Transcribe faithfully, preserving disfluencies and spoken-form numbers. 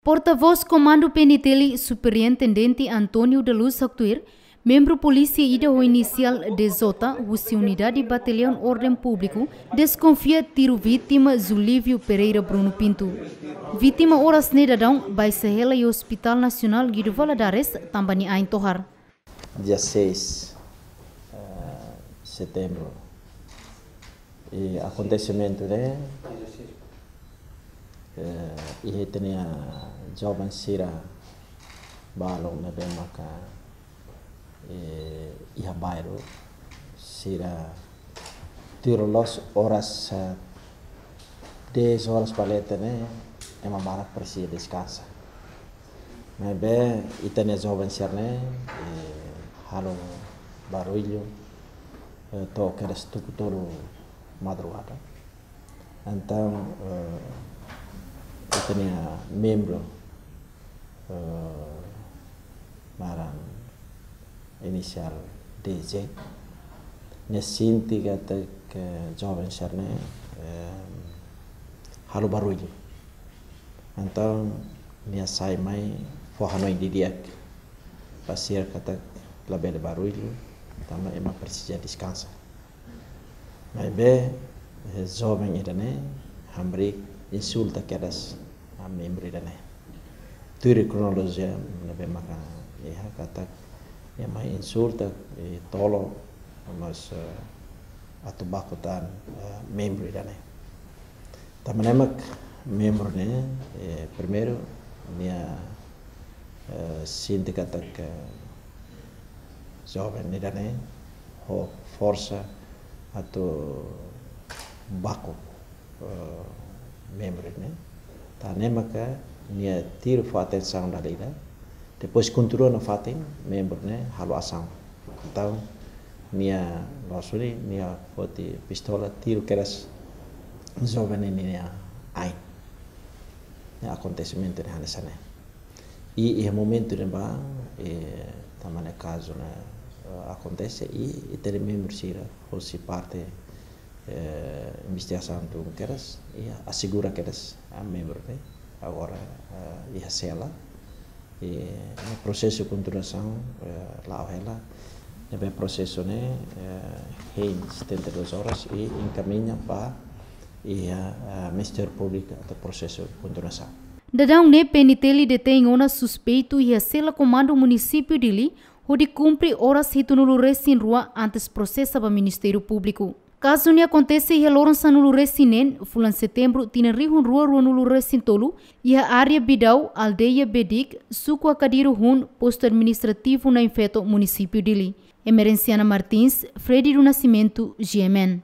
Portavós Komandu P N T L, Superintendente António da Luz haktuir, membru polísia ida ho inisiál D J husi Unidade Bataliaun Orden Públiku deskonfia tiru vítima Zulívio Pereira Bruno Pinto. Vítima oras ne'e daudaun baixa hela iha Hospital Nasionál Guido Valadares tanba nia ain tohar. Dia seis, eh, setembru. I akontesimentu ne'e, eh, iha ita-nia joven sira balun ne'ebé maka, eh, iha bairru sira tuir loloos oras, eh, dez horas ba leten ne'e, ema barak presiza deskansa. Maibé ita-nia joven sira ne'e, eh, halo barullu, eh, to'o kedas tuku tolu madrugada. Entaun, eh, ita-nia membru, eh, naran inisiál D J, nia sente katak joven sira ne'e, eh, halo barullu. Entaun nia sai mai fó hanoin didi'ak ba sira katak labele barullu, tanba ema presiza deskansa. Maibé, eh, joven ida-ne'e hamriik insulta kedas membru ida-ne'e. Tuir kronolojia ne'ebé maka iha katak nia mai insulta, eh, tolo, mas, eh, atu baku tan, eh, membru ida-ne'e. Tanba ne'e mak membru ne'e, eh, primeiru nia, eh, sente katak joven ida-ne'e ho forsa atu baku, eh, membru ne'e. Tan ne'e maka nia tiru fó atensaun dala ida. Depois kontinua nafatin, membru ne'e halo asaun. Entaun nia loos duni, nia foti pistola, tiru kedas joven ne'e nia ain. Ne'e akontesimentu ne'e hanesan ne'e. I, iha momentu ne'ebá, eh, tanba ne'e kazu ne'e, eh, akontese i, i ita-nia membru sira hosi parte, eh, investigasaun tun kedas, i asegura kedas, ah, membru ne'e agora, eh, iha sela. I, eh, prosesu kontinuasaun, eh, la'o hela. Ne'ebé prosesu ne'e, eh, hein setenta e duas horas i enkamiña ba iha, eh, Ministériu Públiku atu prosesu kontinuasaun. Daudaun ne'e P N T L detein ona suspeitu iha sela Komandu Munisípiu Dili, hodi kumpre oras hitunulu resin rua antes prosesa ba Ministériu Públiku. Kazu ne'e akontese iha loron sanulu resin neen, fulan setembru, tinan rihun rua ruanulu resin tolu, iha área Bidau, aldeia Bedik, suku Akadiru Hun, postu administrativu Nain Feto, Munisípiu Dili. Emerenciana Martins, Freddy do Nascimento, G M N.